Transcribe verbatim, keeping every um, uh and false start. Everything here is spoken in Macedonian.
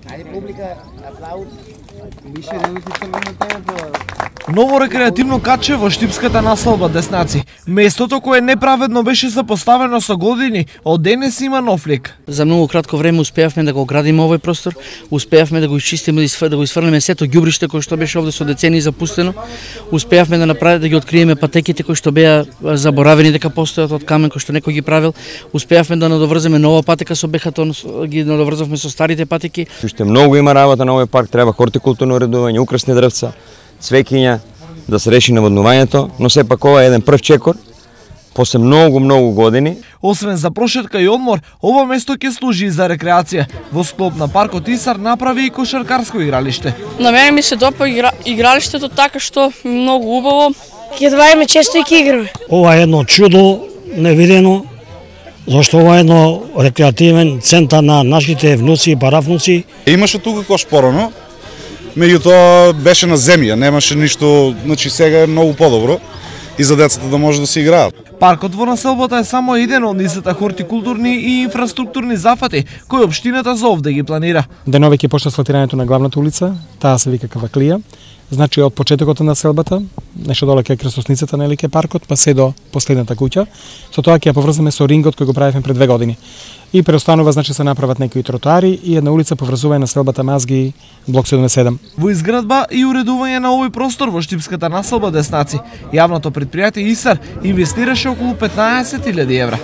Ајде публика, аплауд. Више минути црвена темата. Ново рекреативно катче во Штипската населба Деснаци. Местото кое неправедно беше запоставено со години, од денес има нов лик. За многу кратко време успеавме да го градиме овој простор, успеавме да го изчистиме, да го изфрлиме сето ѓубриште кој што беше овде со децени запустено, успеавме да направиме да ги откриеме патеките кои што беа заборавени дека постојат од камен кој што некој ги правил, успеавме да надоврземе нова патека со бехатон, ги надоврзавме со старите патеки. Уште многу има работа на овој парк, треба хортикултурно уредување, украсни дрвца, цвеќиња, да се реши наводнувањето, но сепак ова е еден прв чекор после многу многу години. Освен за прошетка и одмор, ова место ќе служи и за рекреација. Во склоп на паркот Исар направи и кошаркарско игралиште. На мене ми се допа игра... игралиштето така што многу убаво. Ќе двајме често и ќе играме. Ова е едно чудо невидено, зашто ова е едно рекреативен центар на нашите внуци и паравнуци. Имаше тука кош порано, меѓутоа беше на земја, немаше ништо, значи сега е многу подобро и за децата да може да се играат. Паркот во населбата е само еден од низата хортикултурни и инфраструктурни зафати кои општината за овде ги планира. Денове ќе почне асфалтирањето на главната улица, таа се вика Каваклија. Значи од почетокот на населбата, нешто доле кај крстосницата на Елике паркот, па се до последната куќа. Со тоа ќе ја поврзаме со рингот кој го правевме пред две години. И преостанува, значи се направат некои тротоари и една улица поврзува населбата Мазги блок седумдесет и седум. Во изградба и уредување на овој простор во Штипската населба Деснаци, јавното претпријатие Исар инвестираше околу петнаесет илјади евра.